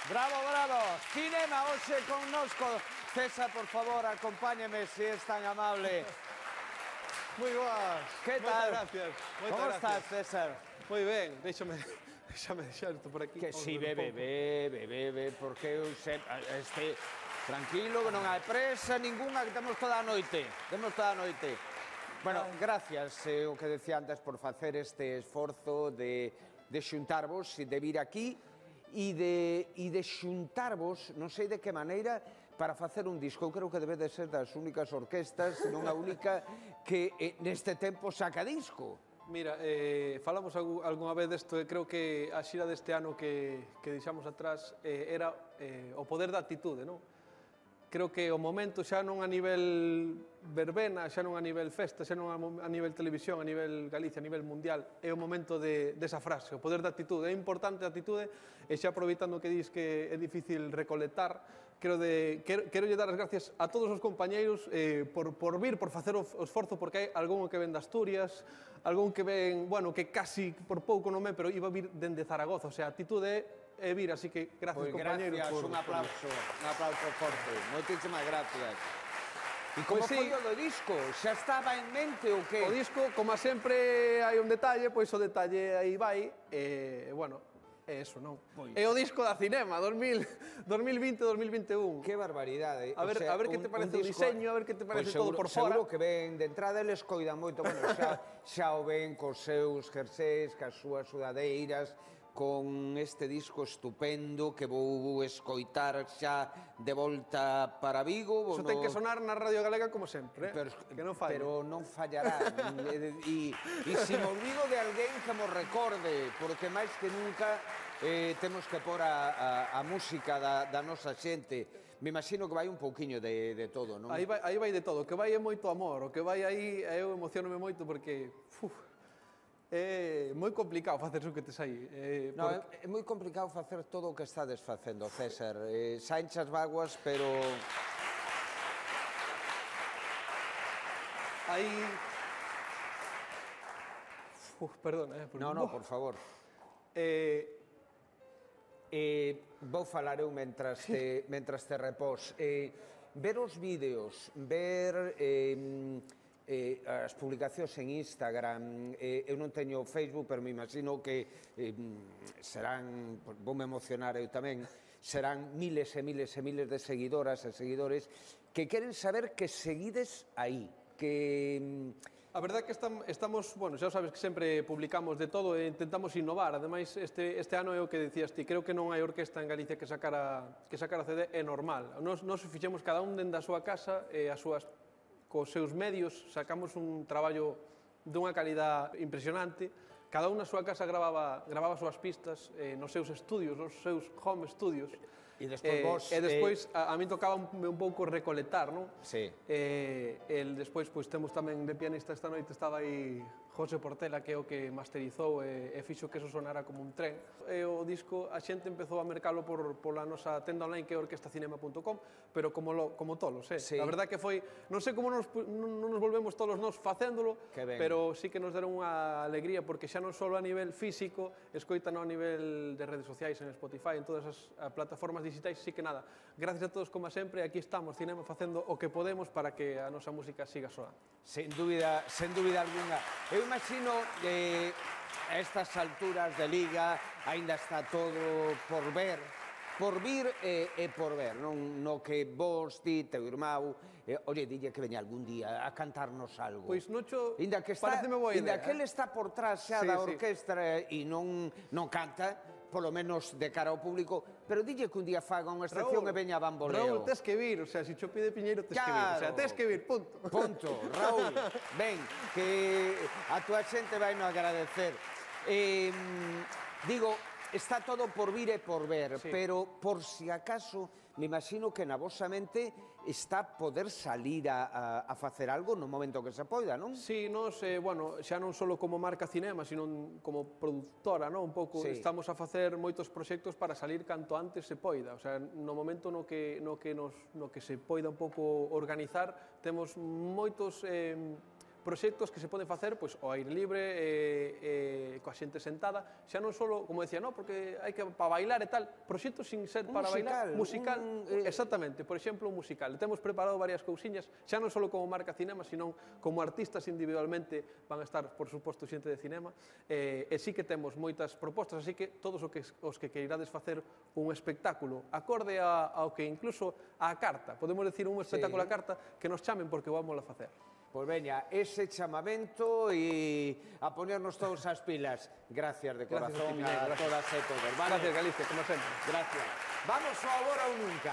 Bravo, bravo. Cinema hoxe connosco. César, por favor, acompáñame, se es tan amable. Moi boas. Que tal? Moitas gracias. Como estás, César? Moi ben, déxame deixar isto por aquí. Que si, bebe, porque eu tranquilo, que non hai presa ninguna, que temos toda a noite. Bueno, gracias, o que decía antes, por facer este esforzo de xuntarvos e de vir aquí e de xuntarvos, non sei de que maneira, para facer un disco. Eu creo que debe de ser das únicas orquestas, non a única, que neste tempo saca disco. Mira, falamos algunha vez desto, creo que a xira deste ano que deixamos atrás era o poder da actitude, non? Creo que o momento xa non a nivel verbena, xa non a nivel festa, xa non a nivel televisión, a nivel Galicia, a nivel mundial, é o momento desa frase, o poder da actitude. É importante a actitude, e xa aproveitando que dis que é difícil recolectar, quero lle dar as gracias a todos os compañeiros por vir, por facer o esforzo, porque hai algún que ven de Asturias, algún que ven, bueno, que casi por pouco non ven, pero iba a vir dende Zaragoza, o sea, a actitude é vir, así que gracias, compañeros. Gracias, un aplauso forte. Moitísimas gracias. E como foi o do disco? Xa estaba en mente o que? O disco, como sempre hai un detalle, pois o detalle aí vai, bueno, é eso, non? É o disco da Cinema, 2020-2021. Que barbaridade. A ver que te parece o diseño, a ver que te parece todo por fora. Seguro que ven, de entrada eles coidan moito, bueno, xa o ven cos seus jersés, cas súas sudadeiras, con este disco estupendo que vou escoitar xa de volta para Vigo. Iso ten que sonar na Radio Galega como sempre, que non falle. Pero non fallará. E se me olvido de alguén que mo recorde, porque máis que nunca temos que pôr a música da nosa xente. Me imagino que vai un pouquiño de todo, non? Aí vai de todo, o que vai é moito amor, o que vai aí, eu emocionome moito porque... É moi complicado facer o que tes aí. É moi complicado facer todo o que estades facendo, César. Saenchas vaguas, pero... Aí... Perdona, No, por favor. Vou falar eu mentras te repós. Ver os vídeos, ver... as publicacións en Instagram, eu non teño Facebook, pero me imagino que serán, voume emocionar eu tamén, serán miles e miles e miles de seguidoras e seguidores que queren saber que seguides aí, que... A verdade é que estamos, bueno, xa sabes que sempre publicamos de todo e intentamos innovar. Ademais, este ano é o que dicías ti, creo que non hai orquesta en Galicia que sacara CD, é normal. Nos fixemos cada un dende a súa casa e as súas cos seus medios, sacamos un traballo dunha calidad impresionante. Cada un na súa casa grababa as súas pistas nos seus estudios, nos seus home studios. E despois a mí tocaba un pouco recolectar, non? Sí. Despois temos tamén de pianista esta noite, estaba aí José Portela, que é o que masterizou e fixo que eso sonara como un tren. O disco a xente empezou a mercalo pola nosa tenda online, que é orquestacinema.com, pero como tolos, Sí. A verdade que foi, non sei como non nos volvemos tolos nós facéndolo, pero sí que nos deron unha alegría, porque xa non só a nivel físico, escoitan a nivel de redes sociais, en Spotify, en todas as plataformas digitais, sí que nada. Gracias a todos, como sempre, aquí estamos, Cinema, facendo o que podemos para que a nosa música siga soando. Sen dúbida alguna. Eu imagino que a estas alturas de Liga aínda está todo por ver, por vir e por ver, non? No que vos, ti, teu irmão, oye, dille que veña algún día a cantarnos algo. Pois Nocho, pareceme boa idea. Inda que ele está por trás xa da orquestra e non canta, polo menos de cara ao público, pero dille que un día faga unha excepción e veña a bamboleo. Raúl, tes que vir, o sea, se cho pide Piñeiro, tes que vir, o sea, tes que vir, punto. Punto, Raúl, ven, que a túa xente vai no agradecer. Digo, está todo por vir e por ver, pero por si acaso, me imagino que na vosa mente está poder salir a facer algo no momento que se poida, non? Sí, nos, bueno, xa non só como marca Cinema, sino como productora, non? Un pouco, estamos a facer moitos proxectos para salir canto antes se poida, o sea, no momento no que se poida un pouco organizar, temos moitos proxectos que se poden facer pois, ao aire libre, coa xente sentada, xa non só, como decía, no, porque hai que para bailar e tal, proxectos sin ser para bailar, musical, exactamente, por exemplo, un musical. Temos preparado varias cousiñas, xa non só como marca Cinema, sino como artistas individualmente van a estar, por suposto, xente de cinema, e sí que temos moitas propostas, así que todos os que queirades facer un espectáculo acorde ao que incluso a carta, podemos decir un espectáculo a carta, que nos chamen porque vamos a facer. Pois veña, ese chamamento e a ponernos todos as pilas. Gracias de corazón a todas e todos. Gracias, Galicia, como sempre. Gracias. Vamos ao agora ou nunca.